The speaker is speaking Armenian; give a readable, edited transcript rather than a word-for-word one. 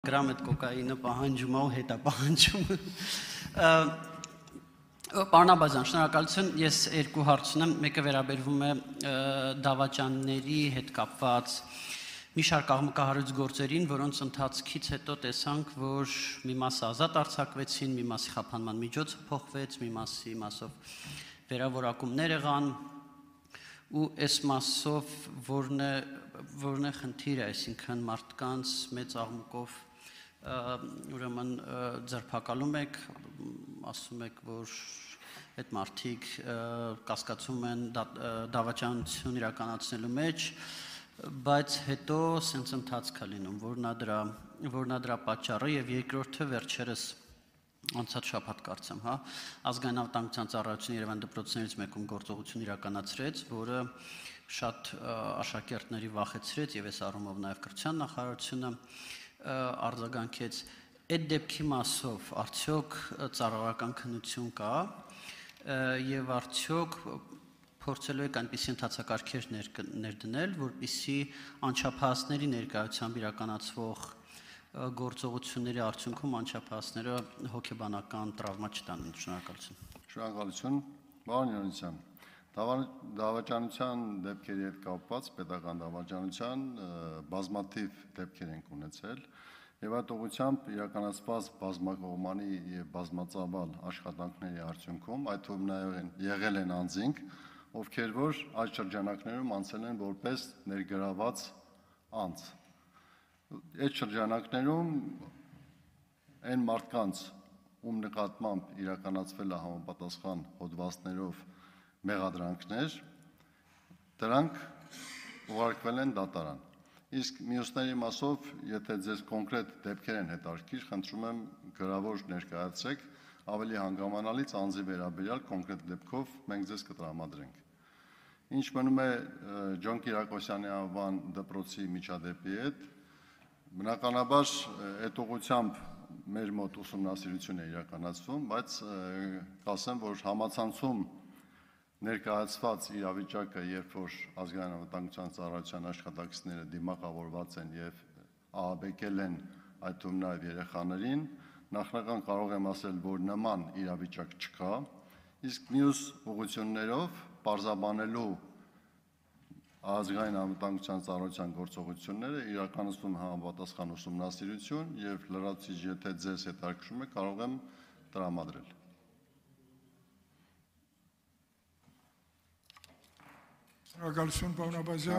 Գրամ այդ կոկայինը պահանջում է ու հետա պահանջում։ Պարոն Աբազյան, շնորհակալություն, ես երկու հարց ունեմ, մեկը վերաբերվում է դավաճանների հետ կապված մի շարք աղմկահարույց գործերին, որոնց ընթացքից հետո տեսանք, որ մի մասը ազատ արձակվեցին, մի մասի խափանման միջոցը փոխվեց, մի մասով վերավորակումներ եղան, ու այս մասով որն է խնդիրը, այսինքն մարդկանց մեծ աղմուկով ուրեմն ձերբակալում եք, ասում եք, որ այդ մարդիկ կասկածում են դավաճանություն իրականացնելու մեջ, բայց հետո սենց ընթացք է լինում, որն է դրա պատճառը, եւ երկրորդը վերջերս անցած շաբաթ կարծեմ, ազգային անվտանգության ծառայությունը Երևան դպրոցներից մեկում գործողություն իրականացրեց, որը շատ աշակերտների վախեցրեց եւ այս առումով նաեւ կրթության նախարարությունը արձագանքեց, այդ դեպքի մասով արդյոք ծառայական քննություն կա եւ արդյոք փորձելու եք այնպիսի ընթացակարգեր ներդնել, որպեսզի անչափահասների ներկայությամբ իրականացվող գործողությունների արդյունքում անչափահասները հոգեբանական տրավմա չտանեն։ Շնորհակալություն։ Շնորհակալություն, պարոն Յոնիսյան։ Դավաճանության դեպքերի հետ կապված պետական դավաճանության բազմաթիվ դեպքեր ենք ունեցել եւ այդ ուղղությամբ իրականացված բազմակողմանի եւ բազմածավալ աշխատանքների արդյունքում այդ թվում նաեւ եղել են անձինք, ովքեր որ այդ շրջանակներում անցել են որպես ներգրաված անձ։ Այդ շրջանակներում այն մարդկանց, ում նկատմամբ իրականացվել է համապատասխան հոդվածներով մեղադրանքներ, դրանք ուղարկվել են դատարան։ Իսկ մյուսների մասով, եթե ձեզ կոնկրետ դեպքեր են հետաքրքիր, խնդրում եմ գրավոր ներկայացրեք, ավելի հանգամանալից անձի վերաբերյալ կոնկրետ դեպքով մենք ձեզ կտրամադրենք։ Ինչ մնում է Ջոն Կիրակոսյանի անվան դպրոցի միջադեպի հետ, բնականաբար այդ ուղղությամբ մեր մոտ ուսումնասիրություն է իրականացվում, բայց կասեմ, որ համացանցում ներկայացված իրավիճակը, երբ որ ազգային անվտանգության ծառայության աշխատակիցները դիմակավորված են եւ ահաբեկել են այդ թվում նաեւ երեխաներին, նախնական կարող եմ ասել, որ նման իրավիճակ չկա, իսկ մյուս ուղղություններով պարզաբանելու ազգային անվտանգության ծառայության գործողությունները իրականացվում համապատասխան ուսումնասիրություն եւ լրացուցիչ, եթե ձեզ հետաքրքրում է, կարող եմ տրամադրել։ Շնորհակալություն, պարոն Աբազյան։